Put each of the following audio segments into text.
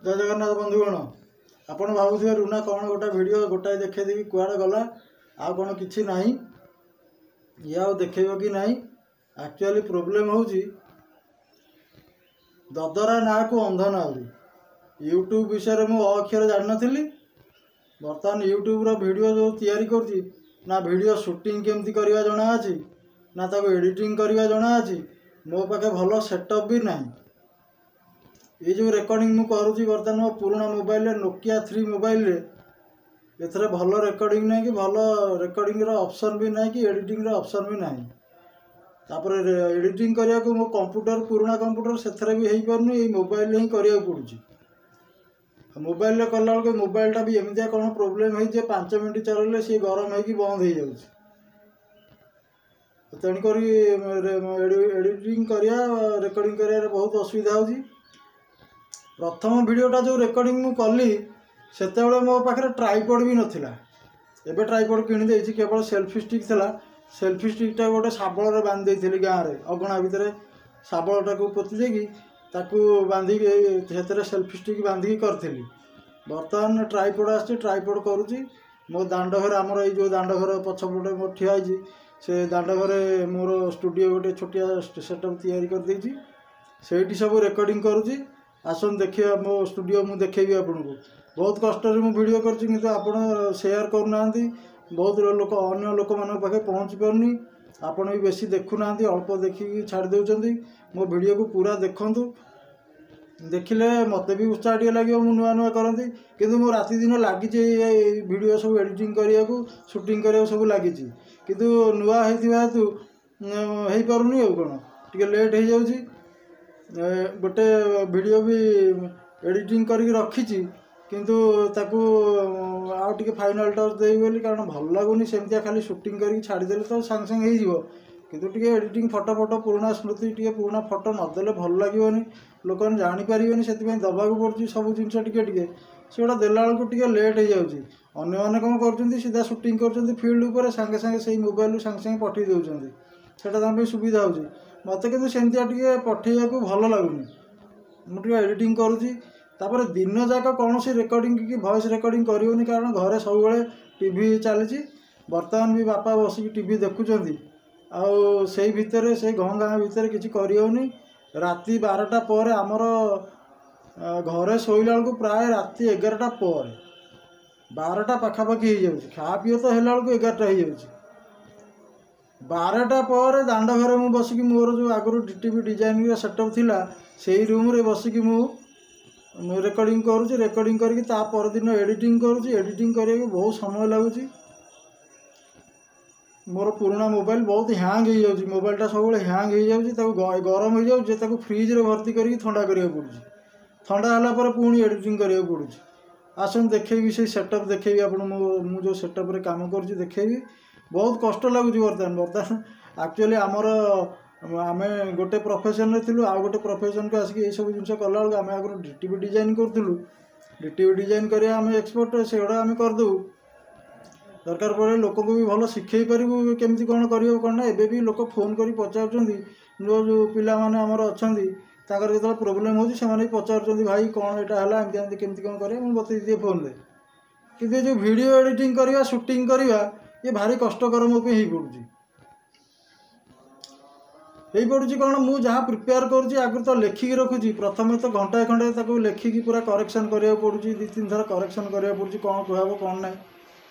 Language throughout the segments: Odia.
ଜୟ ଜଗନ୍ନାଥ ବନ୍ଧୁଗଣ। ଆପଣ ଭାବୁଥିବେ ରୁନା କ'ଣ ଗୋଟେ ଭିଡ଼ିଓ ଗୋଟାଏ ଦେଖେଇଦେବି କୁଆଡ଼େ ଗଲା, ଆଉ କ'ଣ କିଛି ନାହିଁ, ଇଏ ଆଉ ଦେଖେଇବ କି ନାହିଁ। ଆକ୍ଚୁଆଲି ପ୍ରୋବ୍ଲେମ୍ ହେଉଛି ଦଦରା ନାଁକୁ ଅନ୍ଧ ନାଉରୀ। ୟୁଟ୍ୟୁବ୍ ବିଷୟରେ ମୁଁ ଅ ଅକ୍ଷର ଜାଣିନଥିଲି। ବର୍ତ୍ତମାନ ୟୁଟ୍ୟୁବ୍ର ଭିଡ଼ିଓ ଯେଉଁ ତିଆରି କରୁଛି, ନା ଭିଡ଼ିଓ ସୁଟିଂ କେମିତି କରିବା ଜଣାଅଛି, ନା ତାକୁ ଏଡ଼ିଟିଂ କରିବା ଜଣାଅଛି। ମୋ ପାଖେ ଭଲ ସେଟଅପ୍ ବି ନାହିଁ। ଏଇ ଯେଉଁ ରେକର୍ଡ଼ିଂ ମୁଁ କରୁଛି ବର୍ତ୍ତମାନ ମୋ ପୁରୁଣା ମୋବାଇଲରେ, ନୋକିଆ 3 ମୋବାଇଲରେ, ଏଥିରେ ଭଲ ରେକର୍ଡ଼ିଂ ନାହିଁ କି ଭଲ ରେକର୍ଡ଼ିଂର ଅପସନ୍ ବି ନାହିଁ କି ଏଡ଼ିଟିଂର ଅପସନ୍ ବି ନାହିଁ। ତାପରେ ଏଡ଼ିଟିଂ କରିବାକୁ ମୋ କମ୍ପ୍ୟୁଟର, ପୁରୁଣା କମ୍ପ୍ୟୁଟର, ସେଥିରେ ବି ହେଇପାରୁନି, ଏଇ ମୋବାଇଲରେ ହିଁ କରିବାକୁ ପଡ଼ୁଛି। ମୋବାଇଲରେ କଲାବେଳକୁ ମୋବାଇଲଟା ବି ଏମିତିଆ କ'ଣ ପ୍ରୋବ୍ଲେମ୍ ହେଇଛି ଯେ 5 ମିନିଟ୍ ଚଲେଇଲେ ସିଏ ଗରମ ହେଇକି ବନ୍ଦ ହେଇଯାଉଛି। ତେଣୁକରି ଏଡ଼ିଟିଂ କରିବା, ରେକର୍ଡ଼ିଂ କରିବାରେ ବହୁତ ଅସୁବିଧା ହେଉଛି। ପ୍ରଥମ ଭିଡ଼ିଓଟା ଯେଉଁ ରେକର୍ଡ଼ିଂ ମୁଁ କଲି, ସେତେବେଳେ ମୋ ପାଖରେ ଟ୍ରାଇପଡ଼ ବି ନଥିଲା। ଏବେ ଟ୍ରାଇପଡ଼ କିଣିଦେଇଛି। କେବଳ ସେଲ୍ଫି ଷ୍ଟିକ୍ ଥିଲା। ସେଲ୍ଫି ଷ୍ଟିକ୍ଟା ଗୋଟେ ଶାବଳରେ ବାନ୍ଧି ଦେଇଥିଲି। ଗାଁରେ ଅଗଣା ଭିତରେ ଶାବଳଟାକୁ ପୋତି ଦେଇକି ତାକୁ ବାନ୍ଧିକି ସେଥିରେ ସେଲ୍ଫି ଷ୍ଟିକ୍ ବାନ୍ଧିକି କରିଥିଲି। ବର୍ତ୍ତମାନ ଟ୍ରାଇପଡ଼ ଆସିଛି, ଟ୍ରାଇପଡ଼ କରୁଛି। ମୋ ଦାଣ୍ଡ ଘରେ, ଆମର ଏଇ ଯେଉଁ ଦାଣ୍ଡ ଘର ପଛପଟେ ମୋର ଠିଆ ହେଇଛି, ସେ ଦାଣ୍ଡ ଘରେ ମୋର ଷ୍ଟୁଡ଼ିଓ ଗୋଟେ ଛୋଟିଆ ସେଟଅପ୍ ତିଆରି କରିଦେଇଛି, ସେଇଠି ସବୁ ରେକର୍ଡ଼ିଂ କରୁଛି। ଆସନ୍ତୁ ଦେଖିବା ମୋ ଷ୍ଟୁଡ଼ିଓ, ମୁଁ ଦେଖେଇବି ଆପଣଙ୍କୁ। ବହୁତ କଷ୍ଟରେ ମୁଁ ଭିଡ଼ିଓ କରୁଛି, କିନ୍ତୁ ଆପଣ ସେୟାର କରୁନାହାନ୍ତି। ବହୁତ ଲୋକ ଅନ୍ୟ ଲୋକମାନଙ୍କ ପାଖରେ ପହଞ୍ଚି ପାରୁନି। ଆପଣ ବି ବେଶୀ ଦେଖୁନାହାନ୍ତି, ଅଳ୍ପ ଦେଖିକି ଛାଡ଼ି ଦେଉଛନ୍ତି। ମୋ ଭିଡ଼ିଓକୁ ପୁରା ଦେଖନ୍ତୁ, ଦେଖିଲେ ମୋତେ ବି ଉତ୍ସାହ ଟିକେ ଲାଗିବ ମୁଁ ନୂଆ ନୂଆ କରନ୍ତି। କିନ୍ତୁ ମୁଁ ରାତି ଦିନ ଲାଗିଛି, ଏଇ ଭିଡ଼ିଓ ସବୁ ଏଡ଼ିଟିଂ କରିବାକୁ, ସୁଟିଂ କରିବାକୁ ସବୁ ଲାଗିଛି। କିନ୍ତୁ ନୂଆ ହେଇଥିବା ହେତୁ ହେଇପାରୁନି, ଆଉ କ'ଣ ଟିକେ ଲେଟ୍ ହେଇଯାଉଛି। ଗୋଟେ ଭିଡ଼ିଓ ବି ଏଡ଼ିଟିଂ କରିକି ରଖିଛି, କିନ୍ତୁ ତାକୁ ଆଉ ଟିକେ ଫାଇନାଲ୍ ଟଚ୍ ଦେବି ବୋଲି, କାରଣ ଭଲ ଲାଗୁନି ସେମିତିଆ। ଖାଲି ସୁଟିଂ କରିକି ଛାଡ଼ିଦେଲେ ତ ସାଙ୍ଗେ ସାଙ୍ଗେ ହେଇଯିବ, କିନ୍ତୁ ଟିକେ ଏଡ଼ିଟିଂ, ଫଟୋ ଫଟୋ, ପୁରୁଣା ସ୍ମୃତି, ଟିକେ ପୁରୁଣା ଫଟୋ ନଦେଲେ ଭଲ ଲାଗିବନି, ଲୋକମାନେ ଜାଣିପାରିବେନି। ସେଥିପାଇଁ ଦେବାକୁ ପଡ଼ୁଛି ସବୁ ଜିନିଷ ଟିକେ ଟିକେ। ସେଗୁଡ଼ା ଦେଲା ବେଳକୁ ଟିକେ ଲେଟ୍ ହେଇଯାଉଛି। ଅନ୍ୟମାନେ କ'ଣ କରୁଛନ୍ତି? ସିଧା ସୁଟିଂ କରୁଛନ୍ତି ଫିଲ୍ଡ ଉପରେ, ସାଙ୍ଗେ ସାଙ୍ଗେ ସେଇ ମୋବାଇଲରୁ ସାଙ୍ଗେ ସାଙ୍ଗେ ପଠାଇ ଦେଉଛନ୍ତି। ସେଇଟା ତାଙ୍କ ପାଇଁ ସୁବିଧା ହେଉଛି। ମୋତେ କିନ୍ତୁ ସେମିତିଆ ଟିକେ ପଠାଇବାକୁ ଭଲ ଲାଗୁନି। ମୁଁ ଟିକେ ଏଡ଼ିଟିଂ କରୁଛି। ତାପରେ ଦିନ ଯାକ କୌଣସି ରେକର୍ଡ଼ିଂ କି ଭଏସ୍ ରେକର୍ଡ଼ିଂ କରିହେଉନି, କାରଣ ଘରେ ସବୁବେଳେ ଟିଭି ଚାଲିଛି। ବର୍ତ୍ତମାନ ବି ବାପା ବସିକି ଟିଭି ଦେଖୁଛନ୍ତି, ଆଉ ସେଇ ଭିତରେ, ସେଇ ଘଁ ଘାଁ ଭିତରେ କିଛି କରିହେଉନି। ରାତି 12ଟା ପରେ ଆମର ଘରେ ଶୋଇଲା ବେଳକୁ ପ୍ରାୟ ରାତି 11ଟା ପରେ, 12ଟା ପାଖାପାଖି ହେଇଯାଉଛି। ଖାଆ ପିଅ ତ ହେଲା ବେଳକୁ 11ଟା ହେଇଯାଉଛି। 12ଟା ପରେ ଦାଣ୍ଡ ଘରେ ମୁଁ ବସିକି, ମୋର ଯେଉଁ ଆଗରୁ ଡି ଟି ପି ଡିଜାଇନିଂର ସେଟଅପ୍ ଥିଲା, ସେଇ ରୁମ୍ରେ ବସିକି ମୁଁ ରେକର୍ଡ଼ିଂ କରୁଛି। ରେକର୍ଡ଼ିଂ କରିକି ତା ପରଦିନ ଏଡ଼ିଟିଂ କରୁଛି। ଏଡ଼ିଟିଂ କରିବାକୁ ବହୁତ ସମୟ ଲାଗୁଛି। ମୋର ପୁରୁଣା ମୋବାଇଲ ବହୁତ ହ୍ୟାଙ୍ଗ ହେଇଯାଉଛି। ମୋବାଇଲଟା ସବୁବେଳେ ହ୍ୟାଙ୍ଗ ହେଇଯାଉଛି, ତାକୁ ଗରମ ହେଇଯାଉଛି, ତାକୁ ଫ୍ରିଜରେ ଭର୍ତ୍ତି କରିକି ଥଣ୍ଡା କରିବାକୁ ପଡ଼ୁଛି। ଥଣ୍ଡା ହେଲା ପରେ ପୁଣି ଏଡ଼ିଟିଂ କରିବାକୁ ପଡ଼ୁଛି। ଆସନ୍ତୁ ଦେଖେଇବି, ସେଇ ସେଟଅପ୍ ଦେଖେଇବି ଆପଣ। ମୁଁ ଯେଉଁ ସେଟଅପ୍ରେ କାମ କରୁଛି ଦେଖେଇବି। ବହୁତ କଷ୍ଟ ଲାଗୁଛି ବର୍ତ୍ତମାନ। ବର୍ତ୍ତମାନ ଆକ୍ଚୁଆଲି ଆମର ଆମେ ଗୋଟେ ପ୍ରଫେସନ୍ରେ ଥିଲୁ, ଆଉ ଗୋଟେ ପ୍ରଫେସନ୍କୁ ଆସିକି ଏଇସବୁ ଜିନିଷ କଲାବେଳକୁ, ଆମେ ଆଗରୁ ଡି ଟି ପି ଡିଜାଇନ୍ କରୁଥିଲୁ। ଡି ଟି ପି ଡିଜାଇନ୍ କରିବା ଆମେ ଏକ୍ସପର୍ଟ, ସେଗୁଡ଼ା ଆମେ କରିଦେବୁ। ଦରକାର ପଡ଼ିଲେ ଲୋକଙ୍କୁ ବି ଭଲ ଶିଖେଇ ପାରିବୁ କେମିତି କ'ଣ କରିବ କ'ଣ ନା। ଏବେ ବି ଲୋକ ଫୋନ୍ କରି ପଚାରୁଛନ୍ତି। ଯେଉଁ ଯେଉଁ ପିଲାମାନେ ଆମର ଅଛନ୍ତି, ତାଙ୍କର ଯେତେବେଳେ ପ୍ରୋବ୍ଲେମ୍ ହେଉଛି, ସେମାନେ ବି ପଚାରୁଛନ୍ତି, ଭାଇ କ'ଣ ଏଇଟା ହେଲା, ଏମିତି ଏମିତି କେମିତି କ'ଣ କରିବା? ମୁଁ ବତେଇ ଦିଏ ଫୋନ୍ରେ। କିନ୍ତୁ ଏ ଯେଉଁ ଭିଡ଼ିଓ ଏଡ଼ିଟିଂ କରିବା, ସୁଟିଂ କରିବା, ଇଏ ଭାରି କଷ୍ଟକର ମୋ ପାଇଁ ହେଇପଡ଼ୁଛି। ହେଇପଡ଼ୁଛି କ'ଣ, ମୁଁ ଯାହା ପ୍ରିପେୟାର କରୁଛି ଆଗରୁ ତ ଲେଖିକି ରଖୁଛି। ପ୍ରଥମେ ତ ଘଣ୍ଟାଏ ଖଣ୍ଡେ ତାକୁ ଲେଖିକି ପୁରା କରେକ୍ସନ୍ କରିବାକୁ ପଡ଼ୁଛି। 2 3 ଥର କରେକ୍ସନ୍ କରିବାକୁ ପଡ଼ୁଛି, କ'ଣ କୁହାହେବ କ'ଣ ନାହିଁ।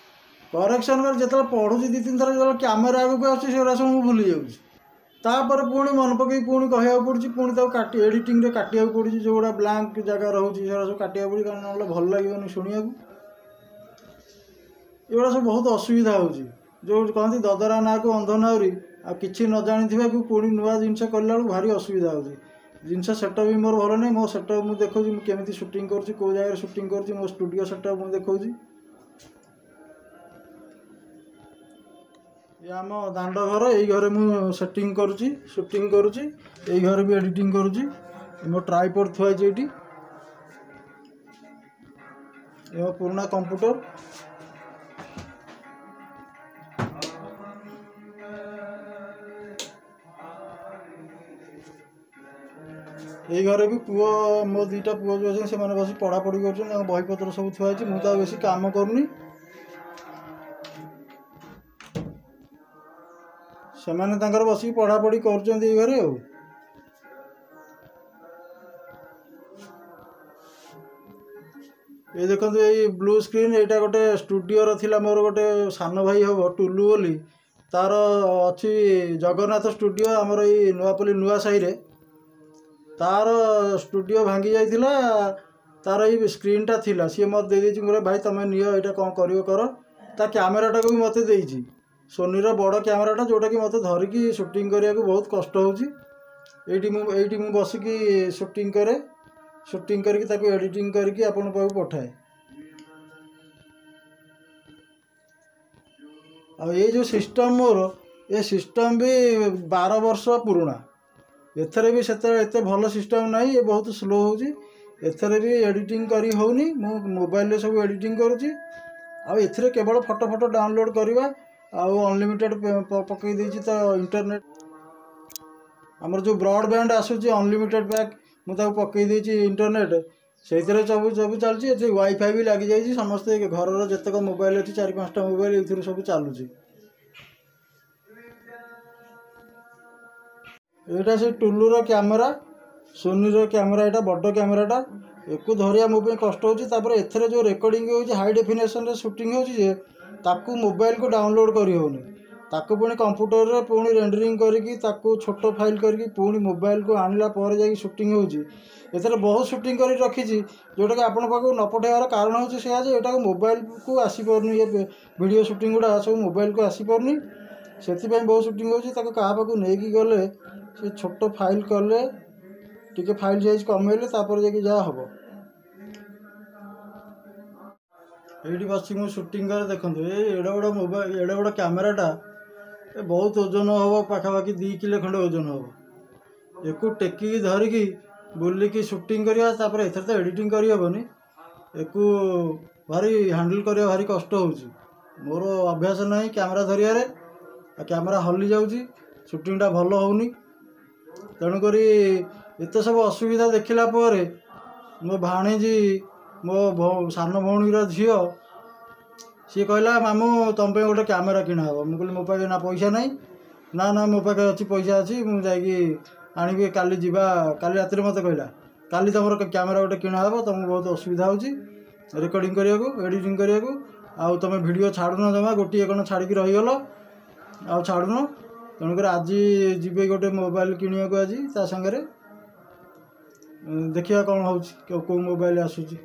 କରେକ୍ସନ୍ କରି ଯେତେବେଳେ ପଢ଼ୁଛି 2 3 ଥର, ଯେତେବେଳେ କ୍ୟାମେରା ଆଗକୁ ଆସୁଛି, ସେଗୁଡ଼ା ସବୁ ମୁଁ ଭୁଲି ଯାଉଛି। ତାପରେ ପୁଣି ମନେ ପକାଇକି ପୁଣି କହିବାକୁ ପଡ଼ୁଛି। ପୁଣି ତାକୁ କାଟି ଏଡ଼ିଟିଂରେ କାଟିବାକୁ ପଡ଼ୁଛି। ଯେଉଁଗୁଡ଼ା ବ୍ଲାଙ୍କ ଜାଗା ରହୁଛି, ସେଗୁଡ଼ା ସବୁ କାଟିବାକୁ ପଡ଼ୁଛି, କାରଣ ନହେଲେ ଭଲ ଲାଗିବନି ଶୁଣିବାକୁ। ଏଗୁଡ଼ା ସବୁ ବହୁତ ଅସୁବିଧା ହେଉଛି। ଯେଉଁ କହନ୍ତି ଦଦରା ନାଁକୁ ଅନ୍ଧ ନାଉରୀ, ଆଉ କିଛି ନ ଜାଣିଥିବାକୁ ପୁଣି ନୂଆ ଜିନିଷ କଲା ବେଳକୁ ଭାରି ଅସୁବିଧା ହେଉଛି। ଜିନିଷ ସେଟଅପ୍ ବି ମୋର ଭଲ ନାହିଁ। ମୋ ସେଟଅପ୍ ମୁଁ ଦେଖାଉଛି, ମୁଁ କେମିତି ସୁଟିଂ କରୁଛି, କେଉଁ ଜାଗାରେ ସୁଟିଂ କରୁଛି, ମୋ ଷ୍ଟୁଡ଼ିଓ ସେଟଅପ୍ ମୁଁ ଦେଖାଉଛି। ଇଏ ଆମ ଦାଣ୍ଡ ଘର। ଏଇ ଘରେ ମୁଁ ସେଟିଂ କରୁଛି, ସୁଟିଂ କରୁଛି, ଏଇ ଘରେ ବି ଏଡ଼ିଟିଂ କରୁଛି। ମୋ ଟ୍ରାଇପଡ଼ ଥୁଆ ହେଇଛି ଏଇଠି। ଏ ମୋ ପୁରୁଣା କମ୍ପ୍ୟୁଟର। ଏଇ ଘରେ ବି ପୁଅ, ମୋ ଦୁଇଟା ପୁଅ ଯେଉଁ ଅଛନ୍ତି ସେମାନେ ବସି ପଢ଼ାପଢ଼ି କରୁଛନ୍ତି। ତାଙ୍କ ବହିପତ୍ର ସବୁ ଥୁଆ ହେଇଛି। ମୁଁ ତ ଆଉ ବେଶୀ କାମ କରୁନି। ସେମାନେ ତାଙ୍କର ବସିକି ପଢ଼ାପଢ଼ି କରୁଛନ୍ତି ଏଇ ଘରେ। ଆଉ ଏଇ ଦେଖନ୍ତୁ ଏଇ ବ୍ଲୁ ସ୍କ୍ରିନ୍, ଏଇଟା ଗୋଟେ ଷ୍ଟୁଡ଼ିଓର ଥିଲା। ମୋର ଗୋଟେ ସାନ ଭାଇ ହେବ ଟୁଲୁ ବୋଲି, ତାର ଅଛି ଜଗନ୍ନାଥ ଷ୍ଟୁଡ଼ିଓ ଆମର ଏଇ ନୂଆପଲ୍ଲୀ ନୂଆ ସାହିରେ। ତାର ଷ୍ଟୁଡ଼ିଓ ଭାଙ୍ଗି ଯାଇଥିଲା, ତାର ଏଇ ସ୍କ୍ରିନ୍ଟା ଥିଲା, ସିଏ ମୋତେ ଦେଇଦେଇଛି। ମୁଁ କହିଲି ଭାଇ ତୁମେ ନିଅ ଏଇଟା, କ'ଣ କରିବ କର। ତା କ୍ୟାମେରାଟାକୁ ବି ମୋତେ ଦେଇଛି, ସୋନିର ବଡ଼ କ୍ୟାମେରାଟା, ଯେଉଁଟାକି ମୋତେ ଧରିକି ସୁଟିଂ କରିବାକୁ ବହୁତ କଷ୍ଟ ହେଉଛି। ଏଇଠି ମୁଁ ବସିକି ସୁଟିଂ କରେ, ସୁଟିଂ କରିକି ତାକୁ ଏଡ଼ିଟିଂ କରିକି ଆପଣଙ୍କ ପାଖକୁ ପଠାଏ। ଆଉ ଏଇ ଯେଉଁ ସିଷ୍ଟମ୍ ମୋର, ଏ ସିଷ୍ଟମ୍ ବି 12 ବର୍ଷ ପୁରୁଣା। ଏଥିରେ ବି ସେତେ ଏତେ ଭଲ ସିଷ୍ଟମ୍ ନାହିଁ, ଏ ବହୁତ ସ୍ଲୋ ହେଉଛି। ଏଥିରେ ବି ଏଡ଼ିଟିଂ କରି ହେଉନି। ମୁଁ ମୋବାଇଲରେ ସବୁ ଏଡ଼ିଟିଂ କରୁଛି। ଆଉ ଏଥିରେ କେବଳ ଫଟୋ ଫଟୋ ଡାଉନଲୋଡ଼୍ କରିବା, ଆଉ ଅନଲିମିଟେଡ଼୍ ପକାଇ ଦେଇଛି ତ ଇଣ୍ଟରନେଟ୍, ଆମର ଯେଉଁ ବ୍ରଡ଼ବ୍ୟାଣ୍ଡ ଆସୁଛି ଅନଲିମିଟେଡ଼୍ ପ୍ୟାକ୍, ମୁଁ ତାକୁ ପକାଇ ଦେଇଛି ଇଣ୍ଟରନେଟ୍, ସେଇଥିରେ ସବୁ ସବୁ ଚାଲୁଛି। ଏଠି ୱାଇଫାଇ ବି ଲାଗିଯାଇଛି। ସମସ୍ତେ ଘରର ଯେତେକ ମୋବାଇଲ୍ ଅଛି, 4 5ଟା ମୋବାଇଲ୍, ଏଇଥିରୁ ସବୁ ଚାଲୁଛି। ଏଇଟା ସେ ଟୁଲୁର କ୍ୟାମେରା, ସୋନିର କ୍ୟାମେରା। ଏଇଟା ବଡ଼ କ୍ୟାମେରାଟା, ଏକୁ ଧରିବା ମୋ ପାଇଁ କଷ୍ଟ ହେଉଛି। ତାପରେ ଏଥିରେ ଯେଉଁ ରେକର୍ଡ଼ିଂ ହେଉଛି, ହାଇ ଡେଫିନେସନ୍ରେ ସୁଟିଂ ହେଉଛି ଯେ ତାକୁ ମୋବାଇଲକୁ ଡାଉନଲୋଡ଼୍ କରିହେଉନି। ତାକୁ ପୁଣି କମ୍ପ୍ୟୁଟରରେ ପୁଣି ରେଣ୍ଡରିଂ କରିକି ତାକୁ ଛୋଟ ଫାଇଲ୍ କରିକି ପୁଣି ମୋବାଇଲକୁ ଆଣିଲା ପରେ ଯାଇକି ସୁଟିଂ ହେଉଛି। ଏଥିରେ ବହୁତ ସୁଟିଂ କରି ରଖିଛି, ଯେଉଁଟାକି ଆପଣଙ୍କ ପାଖକୁ ନ ପଠାଇବାର କାରଣ ହେଉଛି ସେଇଆ ଯେ ଏଇଟାକୁ ମୋବାଇଲକୁ ଆସିପାରୁନି। ଏ ଭିଡ଼ିଓ ସୁଟିଂ ଗୁଡ଼ା ସବୁ ମୋବାଇଲକୁ ଆସିପାରୁନି, ସେଥିପାଇଁ ବହୁତ ସୁଟିଂ ହେଉଛି। ତାକୁ କାହା ପାଖକୁ ନେଇକି ଗଲେ ସେ ଛୋଟ ଫାଇଲ୍ କଲେ, ଟିକେ ଫାଇଲ୍ ସାଇଜ୍ କମେଇଲେ ତାପରେ ଯାଇକି ଯାହା ହେବ। ଏଇଠି ବସି ମୁଁ ସୁଟିଂ କରେ। ଦେଖନ୍ତୁ ଏଇ ଏଡ଼େ ବଡ଼ ମୋବାଇଲ, ଏଡ଼େ ବଡ଼ କ୍ୟାମେରାଟା, ଏ ବହୁତ ଓଜନ ହେବ, ପାଖାପାଖି 2 କିଲୋ ଖଣ୍ଡେ ଓଜନ ହେବ। ଏକୁ ଟେକିକି ଧରିକି ବୁଲିକି ସୁଟିଂ କରିବା, ତାପରେ ଏଥିରେ ତ ଏଡ଼ିଟିଂ କରିହେବନି। ଏକୁ ଭାରି ହ୍ୟାଣ୍ଡେଲ୍ କରିବା ଭାରି କଷ୍ଟ ହେଉଛି। ମୋର ଅଭ୍ୟାସ ନାହିଁ କ୍ୟାମେରା ଧରିବାରେ, ଆଉ କ୍ୟାମେରା ହଲି ଯାଉଛି, ସୁଟିଂଟା ଭଲ ହେଉନି। ତେଣୁକରି ଏତେ ସବୁ ଅସୁବିଧା ଦେଖିଲା ପରେ ମୋ ଭାଣିଜୀ, ମୋ ସାନ ଭଉଣୀର ଝିଅ, ସିଏ କହିଲା ମାମୁଁ ତୁମ ପାଇଁ ଗୋଟେ କ୍ୟାମେରା କିଣା ହେବ। ମୁଁ କହିଲି ମୋ ପାଖରେ ନା ପଇସା ନାହିଁ। ନା ନା, ମୋ ପାଖରେ ଅଛି, ପଇସା ଅଛି, ମୁଁ ଯାଇକି ଆଣିବି, କାଲି ଯିବା। କାଲି ରାତିରେ ମୋତେ କହିଲା କାଲି ତୁମର କ୍ୟାମେରା ଗୋଟେ କିଣା ହେବ, ତୁମକୁ ବହୁତ ଅସୁବିଧା ହେଉଛି ରେକର୍ଡ଼ିଂ କରିବାକୁ, ଏଡ଼ିଟିଂ କରିବାକୁ, ଆଉ ତୁମେ ଭିଡ଼ିଓ ଛାଡ଼ୁନ ଜମା, ଗୋଟିଏ କ'ଣ ଛାଡ଼ିକି ରହିଗଲ, ଆଉ ଛାଡ଼ୁନ। ତେଣୁକରି ଆଜି ଯିବେ ଗୋଟେ ମୋବାଇଲ କିଣିବାକୁ ଆଜି ତା ସାଙ୍ଗରେ, ଦେଖିବା କ'ଣ ହେଉଛି, କେଉଁ ମୋବାଇଲ ଆସୁଛି।